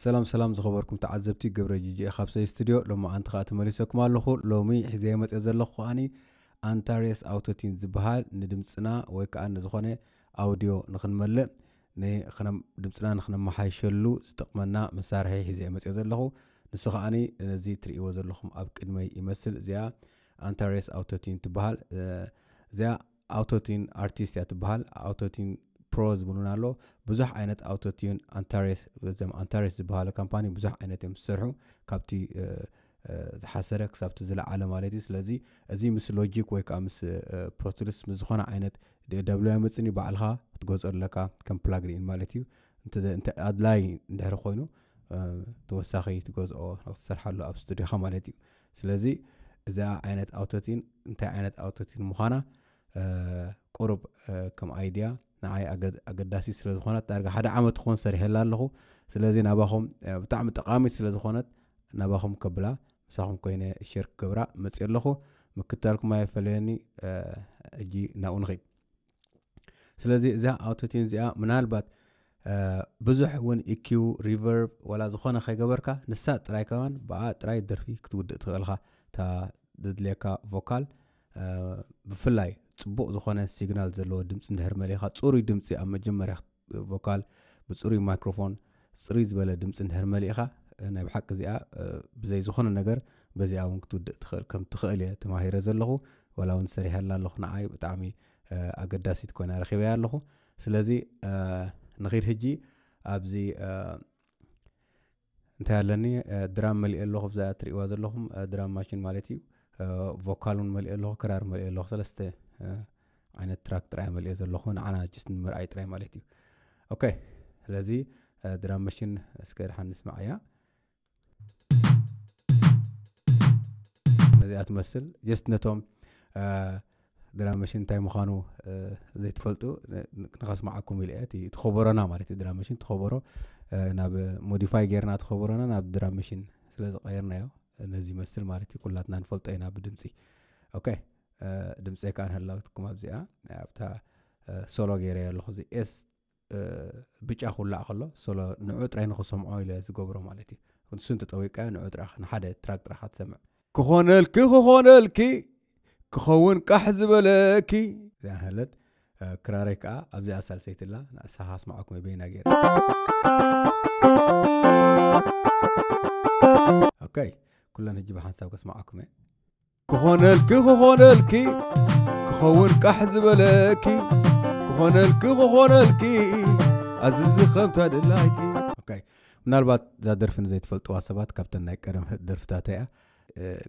ሰላም ሰላም ዝኸበርኩም ተዓዘብቲ፣ ገብረ ጂጂ ካብ ሰይ ስቱድዮ ሎሚ ኣንቲ ከዓ ተመሊሰኩም ኣለኹ። ሎሚ ሒዘ መፅእ ዘለኹ ከዓኒ ኣንታሬስ ኣውቶቲን ዝበሃል ንድምፅና ወይ ከዓ ንዝኾነ ኣውዲዮ ንክንመልእ ንክነ- ድምፅና ንክነመሓይሸሉ ዝጠቕመና መሳርሒ ሒዘ መፅእ ዘለኹ። ንሱ ከዓኒ ነዚ ትርእይዎ ዘለኹም ኣብ ቅድመይ ይመስል። እዚኣ ኣንታሬስ ኣውቶቲን ትበሃል። እዚኣ ኣውቶቲን ኣርቲስት እያ ትበሃል። ኣውቶቲን ፕሮ ዝብሉን ኣሎ። ብዙሕ ዓይነት ኣውቶቲን ኣንታሬስ፣ እዞም ኣንታሬስ ዝበሃሉ ካምፓኒ ብዙሕ ዓይነት እዮም ዝሰርሑ፣ ካብቲ ዝሓሰረ ክሳብቲ ዝለዓለ ማለት እዩ። ስለዚ እዚ ምስ ሎጂክ ወይ ከዓ ምስ ፕሮቱልስ ምስ ዝኾነ ዓይነት ደብሎ መፅኒ ባዕልኻ ክትገዝኦ ኣለካ፣ ከም ፕላግሪን ማለት እዩ። እንተ ኣድላይ እንድሕር ኮይኑ ተወሳኺ ትገዝኦ ክትሰርሓሉ ኣብ ስቱዲዮኻ ማለት እዩ። ስለዚ እዛ ዓይነት ኣውቶቲን እንታይ ዓይነት ኣውቶቲን ምዃና ቁሩብ ከም ኣይድያ ንዓይ ኣገዳሲ ስለ ዝኾነት ዳርጋ ሓደ ዓመት ክኾን ሰሪሐላ ኣለኹ። ስለዚ ናባኹም ብጣዕሚ ጠቓሚት ስለ ዝኾነት ናባኹም ከብላ ምሳኹም ኮይነ ሸር ክገብራ መፅእ ኣለኹ። ምክታልኩም ኣይፈለየኒ። ሕጂ ናብኡ ንኸይድ። ስለዚ እዛ ኣውቶቲን እዚኣ ምናልባት ብዙሕ እውን ኢኪው ሪቨርብ ዋላ ዝኾነ ከይገበርካ ንሳ ጥራይ ከማን ብኣ ጥራይ ደርፊ ክትውድእ ትኽእልኻ። እታ ዘድልየካ ቮካል ብፍላይ ፅቡቕ ዝኾነ ሲግናል ዘለዎ ድምፂ እንድሕር መሊእኻ፣ ፅሩይ ድምፂ ኣብ መጀመርያ ቮካል ብፅሩይ ማይክሮፎን ፅሩይ ዝበለ ድምፂ እንድሕር መሊእኻ፣ ናይ ብሓቂ እዚኣ ብዘይ ዝኾነ ነገር በዚኣ እውን ክትውድእ ትኽእል ከም ትኽእል እየ ተማሂረ ዘለኹ። ዋላ እውን ሰሪሐላ ኣለኹ። ንዓይ ብጣዕሚ ኣገዳሲት ኮይና ረኺበያ ኣለኹ። ስለዚ ንኺድ ሕጂ ኣብዚ እንታይ ኣለኒ፣ ድራም መሊእ ኣለኹ። ብዛ ትርእይዋ ዘለኹም ድራም ማሽን ማለት እዩ። ቮካል እውን መሊእ ኣለኹ፣ ክራር መሊእ ኣለኹ። ሰለስተ ዓይነት ትራክ ጥራይ መሊእ ዘለኹ፣ ንዓና ጅስት ንምርኣይ ጥራይ ማለት እዩ። ኦኬ፣ ስለዚ ድራም ማሽን እስከ ድሓን ንስማዓያ። ነዚኣ ትመስል ጀስት ነቶም ድራም ማሽን እንታይ ምዃኑ ዘይትፈልጡ ንኸስማዓኩም ኢለ እየ። እቲ ከበሮና ማለት እዩ፣ ድራም ማሽን ተኸበሮ ናብ ሞዲፋይ ጌርና ተኸበሮና ናብ ድራም ማሽን ስለ ዝቐየርናዮ ነዚ ይመስል ማለት እዩ። ኩላትና ንፈልጦ ኢና ብድምፂ። ኦኬ፣ ድምፂ ከዓ ንህላውትኩም ኣብዚኣ ኣብታ ሶሎ ገይረ ኣለኹ። እዚ ኤስ ብጫ ክውላዕ ከሎ ሶሎ ንዑ ጥራይ ንኽሰምዖ ኢለ ዝገብሮ ማለት እዩ። ንሱ እንተጠዊቃዮ ንዑ ጥራይ ንሓደ ትራክ ጥራይ ክትሰምዕ። ክኾነልኪ ክኾነልኪ ክኸውን ቃሕ ዝበለኪ። እዚኣ ሃለት ክራረይ ከዓ ኣብዚኣ ሳልሰይትላ ንእሳ ካስማዓኩም በይና ገይረ። ኦኬ፣ ኩለን ሕጂ ብሓንሳብ ከስማዓኩም እየ። ክኾነልኪ ክኾነልኪ ክኸውን ቃሕ ዝበለኪ ክኾነልኪ ክኾነልኪ ኣዝዚ ከምታ ድላይኪ። ኦኬ፣ ምናልባት እዛ ደርፊ ንዘይትፈልጥዋ ሰባት ካብተን ናይ ቀደም ደርፍታት እያ።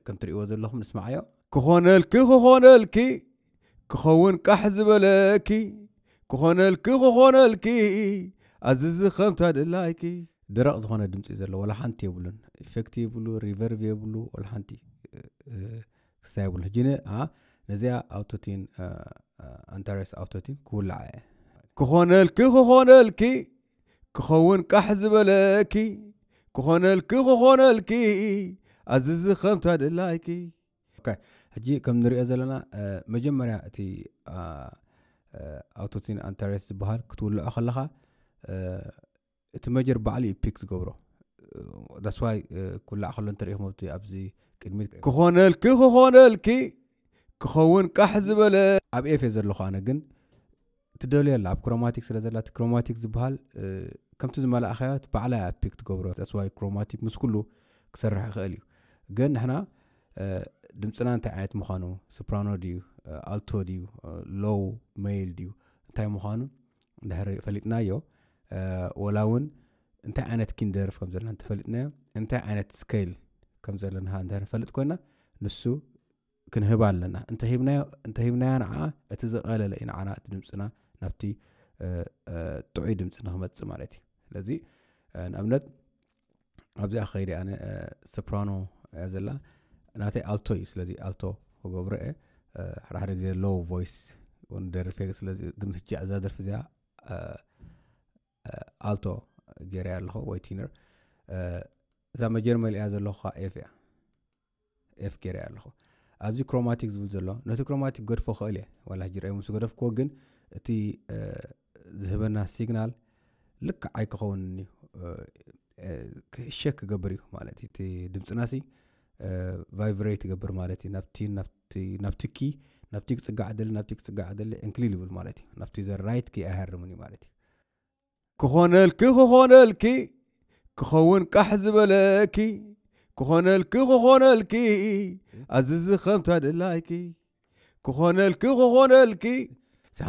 ከም ትርእይዎ ዘለኹም ንስማዓዮ። ክኾነልኪ ክኾነልኪ ክኸውን ቃሕ ዝበለኪ ክኾነልኪ ክኾነልኪ ኣዝዚ ከምታ ድላይኪ። ደረቕ ዝኾነ ድምፂ ዘለዎ፣ ወላ ሓንቲ የብሉን። ኢፌክት የብሉ፣ ሪቨርቭ የብሉ፣ ወላ ሓንቲ ክስታይ የብሉ። ሕጂ ነዚኣ ኣውቶቲን ኣንታረስ ኣውቶቲን ክውልዓ እየ። ክኾነልኪ ክኾነልኪ ክኸውን ቃሕ ዝበለኪ ክኾነልኪ ክኾነልኪ ኣዝዚ ከምታ ድላይኪ። ሕጂ ከም ንሪኦ ዘለና መጀመርያ እቲ ኣውቶቲን ኣንታረስ ዝበሃል ክትውልዖ ከለኻ እቲ መጀር ባዕሉ እዩ ፒክ ዝገብሮ። ዳስዋይ ኩላዕ ከሎ እንተሪኢኹም ኣብቲ ኣብዚ ቅድሚት ክኾነልኪ ክኾነልኪ ክኸውን ቃሕ ዝበለ ኣብ ኤፍ እየ ዘለኹ ኣነ። ግን ትደልዮ ኣላ ኣብ ክሮማቲክ ስለ ዘላ እቲ ክሮማቲክ ዝበሃል ከምቲ ዝመላእኻዮ ባዕላ እያ ፒክ ትገብሮ። ዳስዋይ ክሮማቲክ ምስ ኩሉ ክሰርሕ ይኽእል እዩ። ግን ንሕና ድምፅና እንታይ ዓይነት ምዃኑ፣ ሶፕራኖ ድዩ፣ ኣልቶ ድዩ፣ ሎው ሜል ድዩ፣ እንታይ ምዃኑ እንድሕር ፈሊጥናዮ፣ ወላ እውን እንታይ ዓይነት ኪንደርፍ ከም ዘለና እንተፈሊጥናዮ፣ እንታይ ዓይነት ስኬል ከም ዘለና እንድሕር ንፈልጥ ኮይና፣ ንሱ ክንህባ ኣለና። እንተሂብናዮ ንዓ እቲ ዝቐለለ እዩ ንዓና እቲ ድምፅና ናብቲ ጥዑይ ድምፂ ንክመፅእ ማለት እዩ። ስለዚ ንኣብነት ኣብዚኣ ከይደ ኣነ ሶፕራኖ እያ ዘላ፣ ናተይ ኣልቶ እዩ። ስለዚ ኣልቶ ክገብሮ እየ። ሓደ ሓደ ግዜ ሎው ቮይስ እውን ደርፍ እየ። ስለዚ ግን ሕጂ እዛ ደርፊ እዚኣ ኣልቶ ገይረያ ኣለኹ ወይ ቲነር። እዛ መጀር መሊኣ ዘለኹ ኤፍ እያ። ኤፍ ገይረያ ኣለኹ። ኣብዚ ክሮማቲክ ዝብል ዘሎ ነቲ ክሮማቲክ ገድፎ ክእል እየ። ዋላ ሕጂ ርኣይ ምስ ገደፍክዎ ግን እቲ ዝህበና ሲግናል ልክዕ ኣይክኸውንን እዩ። ሸክ ክገብር እዩ ማለት እዩ። እቲ ድምፅና ሲ ቫይብሬት ይገብር ማለት እዩ። ናብቲ ናብቲ ናብቲ ኪ ናብቲ ክፅጋዕ ደሊ ናብቲ ክፅጋዕ ደሊ ዕንክሊል ይብል ማለት እዩ። ናብቲ ዘ ራይት ኪ ኣይሃርምን እዩ ማለት እዩ። ክኾነልኪ ክኾነልኪ ክኸውን ቃሕ ዝበለኪ ክኾነልኪ ክኾነልኪ ኣዝዚ ከምታ ድላይኪ ክኾነልኪ ክኾነልኪ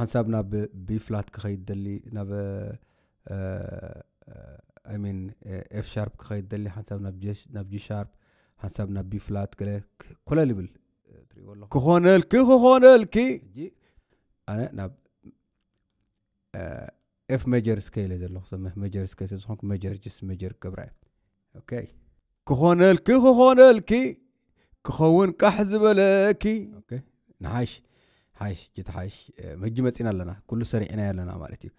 ሓንሳብ ናብ ቢ ፍላት ክኸይድ ደሊ ናብ I mean ኤፍ ሻርፕ ክኸይድ ደሊ ሓንሳብ ናብ ጂ ሻርፕ ሓንሳብ ናብ ቢ ፍላት ገለ ኮለል ይብል ትሪእዎ ኣለኹ። ክኾነልኪ ክኾነልኪ ሕጂ ኣነ ናብ ኤፍ ሜጀር ስኬል እየ ዘለኹ። ሜጀር ስኬል ስለ ዝኾንኩ ሜጀር ጅስ ሜጀር ክገብራ እየ። ኦኬ ክኾነልኪ ክኾነልኪ ክኸውን ቃሕ ዝበለኪ። ኦኬ ንሓሽ ሓሽ ጅት ሓሽ ሕጂ መፂና ኣለና። ኩሉ ሰሪዕና ኣለና ማለት እዩ።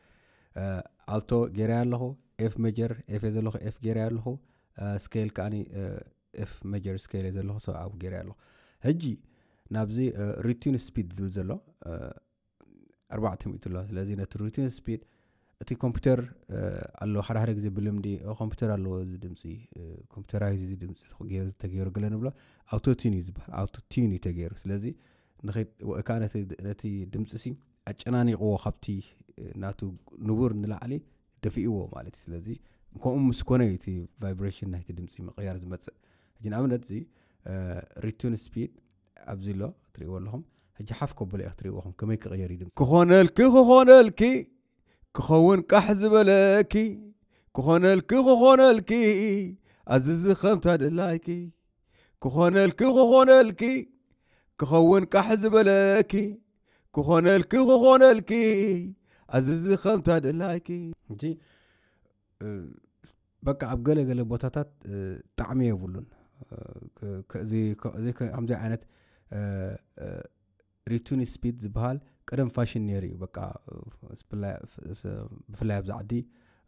ኣልቶ ጌራ ኣለኹ ኤፍ ሜጀር ኤፍ ዘለኹ ኤፍ ጌራ ኣለኹ ስኬል ከዓኒ ኤፍ ሜጀር ስኬል ዘለኹ ሰብኣዊ ጌራ ኣለኹ። ሕጂ ናብዚ ሪቲን ስፒድ ዝብል ዘሎ ኣርባዕተ ሚእቲ ኣሎ። ስለዚ ነቲ ሩቲን ስፒድ እቲ ኮምፒውተር ኣሎ ሓደ ሓደ ግዜ ብልምዲ ኮምፒውተር ኣለዎ እዚ ድምፂ ኮምፒውተራይዝ እዚ ድምፂ ተገይሩ ገለ ንብሎ ኣውቶቲን እዩ ዝበሃል። ኣውቶቲን እዩ ተገይሩ። ስለዚ ከዓ ነቲ ድምፂ ሲ ኣጨናኒቕዎ ካብቲ ናቱ ንቡር ንላዕሊ ደፊእዎ ማለት እዩ። ስለዚ ከምኡ ምስ ኮነ እቲ ቫይብሬሽን ናይቲ ድምፂ ምቕያር ዝመፅእ። ሕጂ ንኣብነት እዚ ሪቱን ስፒድ ኣብዚ ኣሎ ትሪእዎ ኣለኹም። ሕጂ ሓፍ ከብሎ እየ ክትሪእዎ ኹም ከመይ ክቕየር እዩ ድምፂ። ክኾነልኪ ክኾነልኪ ክኸውን ቃሕ ዝበለኪ ክኾነልኪ ክኾነልኪ ኣዝዚ ከምታ ድላይኪ ክኾነልኪ ክኾነልኪ ክኸውን ቃሕ ዝበለኪ ክኾነልኪ ክኾነልኪ ኣዝዚ ከምታ ድላይኪ። ሕጂ በቃ ኣብ ገለ ገለ ቦታታት ጣዕሚ የብሉን። ከምዚ ዓይነት ሪቱኒ ስፒድ ዝበሃል ቀደም ፋሽን ነይሩ እዩ። በቃ ብፍላይ ኣብዚ ዓዲ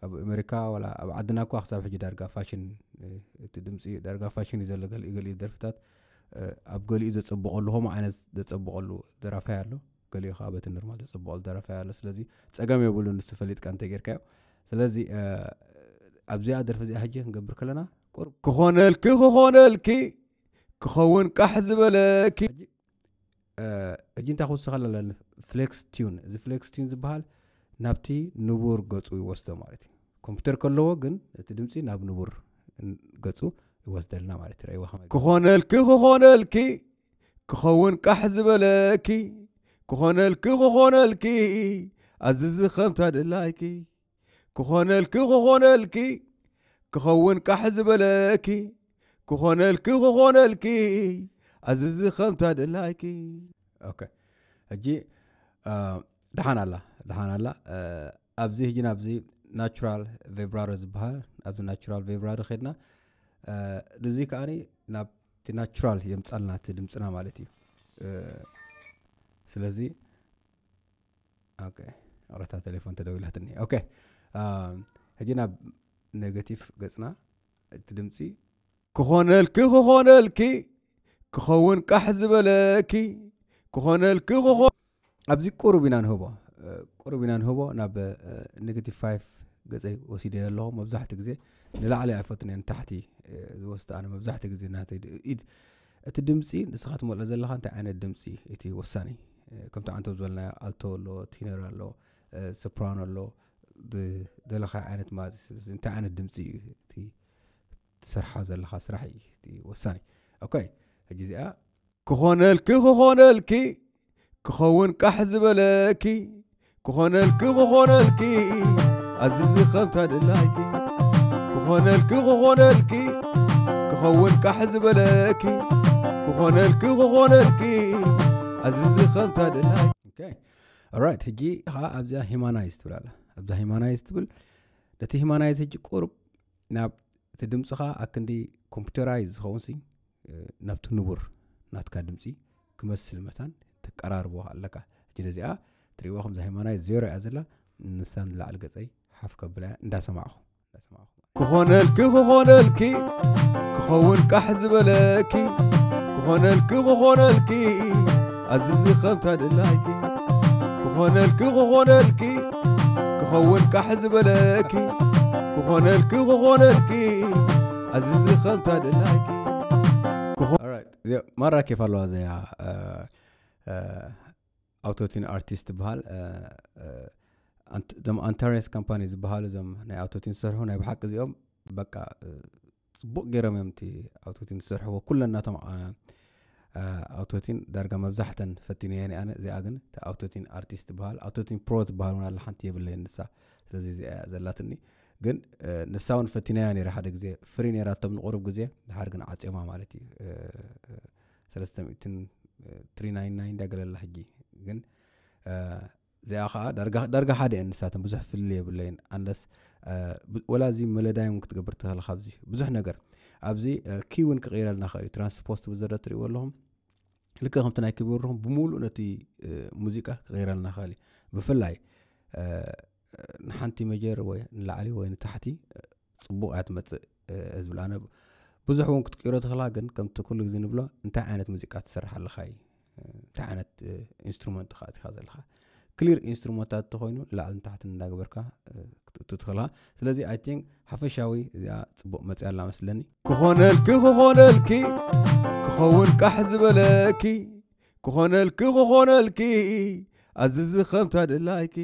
ኣብ ኣሜሪካ ወላ ኣብ ዓድና እኳ ክሳብ ሕጂ ዳርጋ ፋሽን እቲ ድምፂ ዳርጋ ፋሽን እዩ ዘሎ። ገሊኡ ገሊኡ ደርፍታት ኣብ ገሊኡ ዘፀብቐሉ ከምኡ ዓይነት ዘፀብቐሉ ደራፋይ ኣሎ። ገሊኡ ከዓ በቲ ኖርማል ዘፀብቐሉ ደራፋይ ኣሎ። ስለዚ ፀገም የብሉ ንሱ ፈሊጥካ እንተጌርካዮ። ስለዚ ኣብዚኣ ደርፊ እዚኣ ሕጂ ክንገብር ከለና ቁሩብ ክኾነልኪ ክኾነልኪ ክኸውን ቃሕ ዝበለኪ ሕጂ እንታይ ክውስኸላ ኣለኒ ፍሌክስ ቲዩን። እዚ ፍሌክስ ቲዩን ዝበሃል ናብቲ ንቡር ገፁ ይወስዶ ማለት እዩ። ኮምፒውተር ከለዎ ግን እቲ ድምፂ ናብ ንቡር ገፁ ይወስደልና ማለት እዩ። ረእይዋ ከመይ ክኾነልኪ ክኾነልኪ ክኸውን ቃሕ ዝበለኪ ክኾነልኪ ክኾነልኪ ኣዝዚ ከምታ ድላይኪ ክኾነልኪ ክኾነልኪ ክኸውን ቃሕ ዝበለኪ ክኾነልኪ ክኾነልኪ ኣዝዚ ከምታ ድላይኪ። ኦኬ ሕጂ ደሓን ኣላ ደሓን ኣላ። ኣብዚ ሕጂ ናብዚ ናቹራል ቬብራሮ ዝበሃል ኣብዚ ናቹራል ቬብራሮ ኸድና እዚ ከዓኒ ናብቲ ናቹራል የምፃልና እቲ ድምፅና ማለት እዩ። ስለዚ ኦኬ ቅረታ ቴሌፎን ተደዊላትኒ። ኦኬ ሕጂ ናብ ኔጋቲቭ ገፅና እቲ ድምፂ ክኾነልኪ ክኾነልኪ ክኸውን ቃሕ ዝበለኪ ክኾነልኪ ክኾ ኣብዚ ቁሩብ ኢና ንህቦ ቁሩብ ኢና ንህቦ ናብ ኔጋቲቭ ፋይቭ ገፀይ ወሲደ ኣለኹ። መብዛሕትኡ ግዜ ንላዕሊ ኣይፈትን እየ ንታሕቲ ዝወስድ ኣነ መብዛሕትኡ ግዜ ናተይ ኢድ እቲ ድምፂ ንስኻ ትመልኦ ዘለኻ እንታይ ዓይነት ድምፂ እቲ ወሳኒ ከምቲ ዓንቶ ዝበልናዮ ኣልቶ ኣሎ ቲነር ኣሎ ሶፕራኖ ኣሎ ደለኻ ዓይነት ማለት እዩ። ስለዚ እንታይ ዓይነት ድምፂ እዩ እቲ ትሰርሓ ዘለኻ ስራሕ እዩ እቲ ወሳኒ። ኦኬ ሕጂ እዚኣ ክኾነልኪ ክኾነልኪ ክኸውን ቃሕ ዝበለኪ ክኾነልኪ ክኾነልኪ ኣዝዚ ከምታ ድላይኪ ክኾነልኪ ክኾነልኪ ክኸውን ቃሕ ዝበለኪ ክኾነልኪ ክኾነልኪ ኣዝዚ ከምታ ድላይኪ። ኦራይት ሕጂ ከዓ ኣብዚኣ ሂማናይዝ ትብል ኣላ። ኣብዛ ሂማናይዝ ትብል ነቲ ሂማናይዝ ሕጂ ቁሩብ ናብ እቲ ድምፅኻ ኣክንዲ ኮምፒውተራይዝ ዝኸውን ሲ ናብቲ ንቡር ናትካ ድምፂ ክመስል መታን ተቀራርቦ ኣለካ። ሕጂ ነዚኣ ትሪእዋ ከምዚ ሃይማናይ ዜሮ እያ ዘላ። ንሳ ንላዕሊ ገፀይ ሓፍ ከብላ እያ እንዳሰማዕኹ እንዳሰማዕኹ ክኾነልኪ ክኾነልኪ ክኸውን ቃሕ ዝበለኪ ክኾነልኪ ክኾነልኪ ኣዝዚ ከምታ ድላይኪ ክኾነልኪ ክኾነልኪ ክኸውን ቃሕ ዝበለኪ ክኾነልኪ ክኾነልኪ ኣዝዚ ከምታ ደላይኪ። ማራ ኬፍ ኣለዋ እዚኣ። ኣውቶቲን ኣርቲስት ትበሃል። እዞም ኣንታሪየስ ካምፓኒ ዝበሃሉ እዞም ናይ ኣውቶቲን ዝሰርሑ ናይ ብሓቂ እዚኦም በቃ ጽቡቕ ገይሮም እዮም እቲ ኣውቶቲን ዝሰርሕዎ። ኩለን ናቶም ኣውቶቲን ዳርጋ መብዛሕተን ፈቲነየን ኣነ። እዚኣ ግን ኣውቶቲን ኣርቲስት ትበሃል። ኣውቶቲን ፕሮ ትበሃል እውን ኣላ፣ ሓንቲ የብለየን ንሳ። ስለዚ እዚኣ እያ ዘላትኒ። ግን ንሳ እውን ፈቲነያ ነይራ ሓደ ግዜ፣ ፍሪ ነይራቶም ንቁሩብ ግዜ፣ ድሓር ግን ዓፅዮማ ማለት እዩ። ሰለስተ ሚእትን ትሪ ናይን ናይን እንዳገለላ ሕጂ ግን እዚኣ ከዓ ዳርጋ ሓደ እየን ንሳተን፣ ብዙሕ ፍልልይ የብለይን። ኣንለስ ወላ እዚ መለዳዮም ክትገብር ትኽእል ካብዚ ብዙሕ ነገር ኣብዚ ኪ እውን ክቕይረልና ኽእል እዩ። ትራንስፖስት ብዘሎ ትሪእዎ ኣለኹም፣ ልክእ ከምቲ ናይ ኪቦርድኹም ብምሉእ ነቲ ሙዚቃ ክቕይረልና ኽእል እዩ። ብፍላይ ንሓንቲ መጀር ወይ ንላዕሊ ወይ ንታሕቲ ፅቡቕ እያ ትመፅእ። ዝብል ኣነ ብዙሕ እውን ክትቅይሮ ትኽእላ፣ ግን ከምቲ ኩሉ ግዜ ንብሎ እንታይ ዓይነት ሙዚቃ ትሰርሕ ኣለኻ እዩ። እንታይ ዓይነት ኢንስትሩመንት ኢኻ ኣቲኻ ዘለኻ። ክሊር ኢንስትሩመንታት እንተኾይኑ ንላዕሊ ንታሕቲ እንዳገበርካ ክትእቱ ትኽእልኻ። ስለዚ ኣይ ቲንክ ሓፈሻዊ እዚኣ ፅቡቕ መፅያ ኣላ መስለኒ። ክኾነልኪ ክኾነልኪ ክኸውን ቃሕ ዝበለኪ፣ ክኾነልኪ ክኾነልኪ ኣዝዚ ከምታ ደላይኪ፣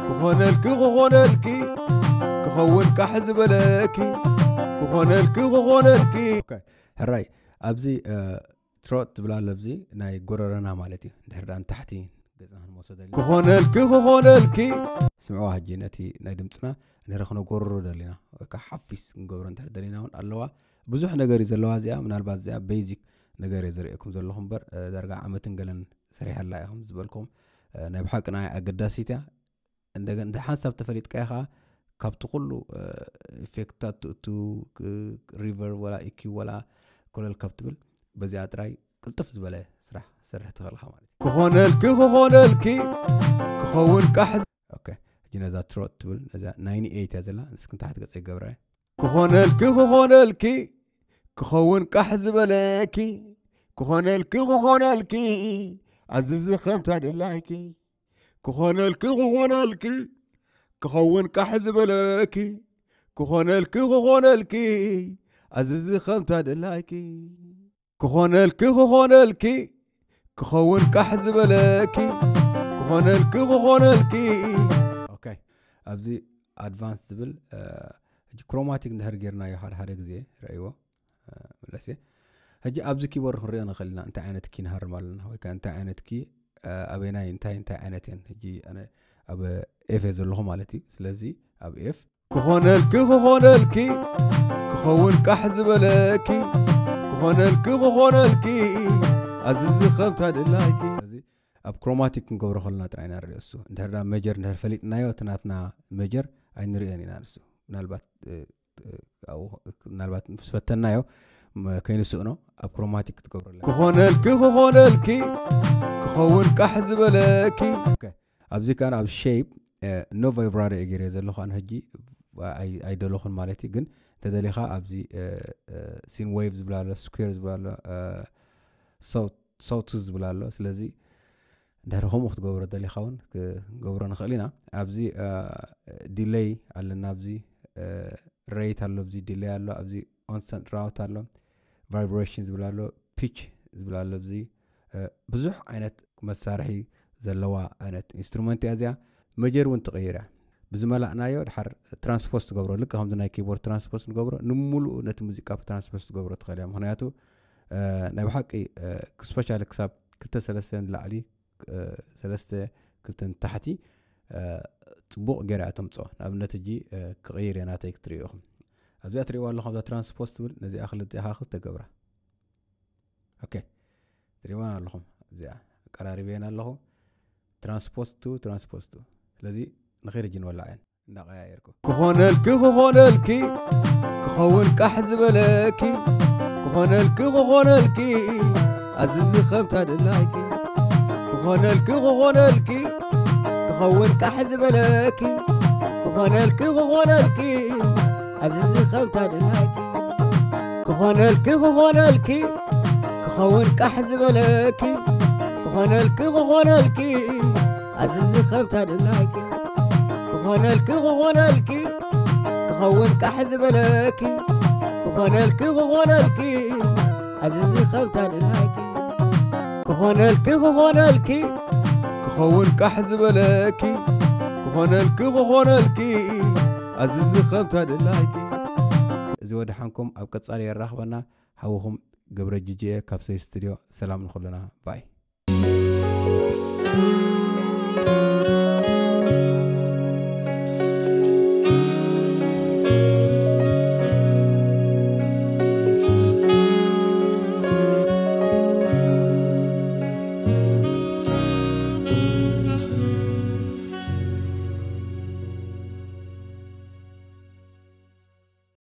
ክኾነልኪ ክኾነልኪ ክኸውን ቃሕ ዝበለኪ፣ ክኾነልኪ ክኾነልኪ። ሕራይ ኣብዚ ትሮት ትብል ኣሎ፣ ኣብዚ ናይ ጎረረና ማለት እዩ። እንድሕር ደኣ ንታሕቲ ገጽና ክንመልሶ ደሊና። ክኾነልኪ ክኾነልኪ። ስምዕዋ ሕጂ ነቲ ናይ ድምጽና እንድሕር ክነጎርሮ ደሊና፣ ወይ ከዓ ሓፊስ ክንገብሮ እንድሕር ደሊና እውን ኣለዋ። ብዙሕ ነገር እዩ ዘለዋ እዚኣ፣ ምናልባት እዚኣ ቤዚክ ነገር እየ ዘርእየኩም ዘለኹ እምበር፣ ዳርጋ ዓመትን ገለን ሰሪሐላ እየ ከም ዝበልኩም። ናይ ብሓቂ ንዓይ ኣገዳሲት እያ። እንደገና እንተ ሓንሳብ ተፈሊጥካዮ ኸዓ ካብቲ ኩሉ ኢፌክትታት ትእቱ፣ ሪቨርብ ወላ ኢኪው ወላ ኮለል ካብ ትብል በዚኣ ጥራይ ቅልጥፍ ዝበለ ስራሕ ሰርሕ ትኽእል ኢኻ ማለት እዩ። ክኾነልኪ ክኾነልኪ ክኸውን ቃሕ። ኦኬ፣ ሕጂ ነዛ ትሮት ትብል ነዛ ናይንቲ ኤይት እያ ዘላ። ንስኪ ንታሕቲ ገጸ ይገብራ እየ። ክኾነልኪ ክኾነልኪ ክኸውን ቃሕ ዝበለኪ፣ ክኾነልኪ ክኾነልኪ ኣዝዚ ከምታ ደላይኪ፣ ክኾነልኪ ክኾነልኪ ክኸውን ቃሕ ዝበለኪ፣ ክኾነልኪ ክኾነልኪ ኣዝዚ ከምታ ደላይኪ፣ ክኾነልኪ ክኾነልኪ ክኸውን ቃሕ ዝበለኪ፣ ክኾነልኪ ክኾነልኪ። ኦኬ፣ ኣብዚ ኣድቫንስ ዝብል ሕጂ ክሮማቲክ እንድሕር ጌርናዮ ሓደ ሓደ ግዜ ረእይዎ። መለስ እየ። ሕጂ ኣብዚ ኪቦርድ ክንሪኦ ንኽእል ኢና እንታይ ዓይነት ኪ ንሃርም ኣለና ወይ ከዓ እንታይ ዓይነት ኪ ኣበናይ እንታይ እንታይ ዓይነት እየን። ሕጂ ኣነ ኣብ ኤፍ እየ ዘለኹ ማለት እዩ። ስለዚ ኣብ ኤፍ ክኾነልኪ ክኾነልኪ ክኸውን ቃሕ ዝበለኪ፣ ክኾነልኪ ክኾነልኪ ኣዝዚ ከምታ ደላይኪ። ስለዚ ኣብ ክሮማቲክ ክንገብሮ ከለና ጥራይ ኢና ንሪኦ እሱ። እንድሕር ዳ መጀር እንድሕር ፈሊጥናዮ እቲ ናትና መጀር ኣይንሪኦን ኢና ንሱ። ምናልባት ምናልባት ምስ ፈተናዮ ከይንስእኖ ኣብ ክሮማቲክ ክትገብረለ። ክኾነልኪ ክኾነልኪ ክኸውን ቃሕ ዝበለኪ። ኣብዚ ካን ኣብ ሼፕ ኖ ቫይብራቶ እየ ገይረ ዘለኹ ኣነ ሕጂ ኣይደለኹን ማለት እዩ። ግን እንተደሊኻ ኣብዚ ሲን ዌቭ ዝብል ኣሎ፣ ስኩዌር ዝብል ኣሎ፣ ሳውት ዝብል ኣሎ። ስለዚ እንድሕር ከምኡ ክትገብሮ ደሊኻ እውን ክንገብሮ ንኽእል ኢና። ኣብዚ ዲሌይ ኣለና፣ ኣብዚ ሬት ኣሎ፣ ኣብዚ ዲሌይ ኣሎ፣ ኣብዚ ኦንሰንት ራውት ኣሎ፣ ቫይብሬሽን ዝብል ኣሎ፣ ፒች ዝብል ኣሎ። ኣብዚ ብዙሕ ዓይነት መሳርሒ ዘለዋ ዓይነት ኢንስትሩመንት እያ እዚኣ። መጀር እውን ትቕይር እያ። ብዝመላእናዮ ድሓር ትራንስፖስ ትገብሮ፣ ልክእ ከምዚ ናይ ኪቦርድ ትራንስፖስ ንገብሮ፣ ንምሉኡ ነቲ ሙዚቃ ትራንስፖስ ትገብሮ ትኽእል እያ። ምኽንያቱ ናይ ብሓቂ ስፔሻሊ ክሳብ ክልተ ሰለስተ ንላዕሊ ሰለስተ ክልተ ንታሕቲ ፅቡቕ ገይራ እያ ተምፅኦ። ንኣብነት ሕጂ ክቕይር እየ ናተይ ክትርእዩ ኢኹም። ኣብዚኣ ትርእይዋ ኣለኹም እዛ ትራንስፖስ ትብል፣ ነዚኣ ክልቲኣ ክልተ ገብራ። ኦኬ፣ ትርእይዋ ኣለኹም እዚኣ ኣቀራሪበየን ኣለኹ። ትራንስፖስ ቱ ትራንስፖስ ቱ። ስለዚ ንኸይድ ሕጂ ንወላዕየን እንዳቀያየርኩ። ክኾነልኪ ክኾነልኪ ክኸውን ቃሕ ዝበለኪ፣ ክኾነልኪ ክኾነልኪ ኣዝዚ ከምታ ደላይኪ፣ ክኾነልኪ ክኾነልኪ ክኸውን ቃሕ ዝበለኪ፣ ክኾነልኪ ክኾነልኪ ኣዝዚ ከምታ ደላይኪ፣ ክኾነልኪ ክኾነልኪ ክኸውን ቃሕ ዝበለኪ፣ ክኾነልኪ ክኾነልኪ ኣዝዚ ከምታ ደላይኪ፣ ክኾነልኪ ክኾነልኪ ክኸውን ቃሕ ዝበለኪ ክኾነልኪ ክኾነልኪ ኣዝዚ ከምታ ደላይኪ ክኾነልኪ ክኾነልኪ ክኸውን ቃሕ ዝበለኪ ክኾነልኪ ክኾነልኪ ኣዝዚ ከምታ ደላይኪ። እዚ ወድሓንኩም ኣብ ቀጻሊ የራኽበና። ሓውኹም ገብረ ጅጅየ ካብ ሰይ ስቱድዮ። ሰላም ንኹልና ባይ።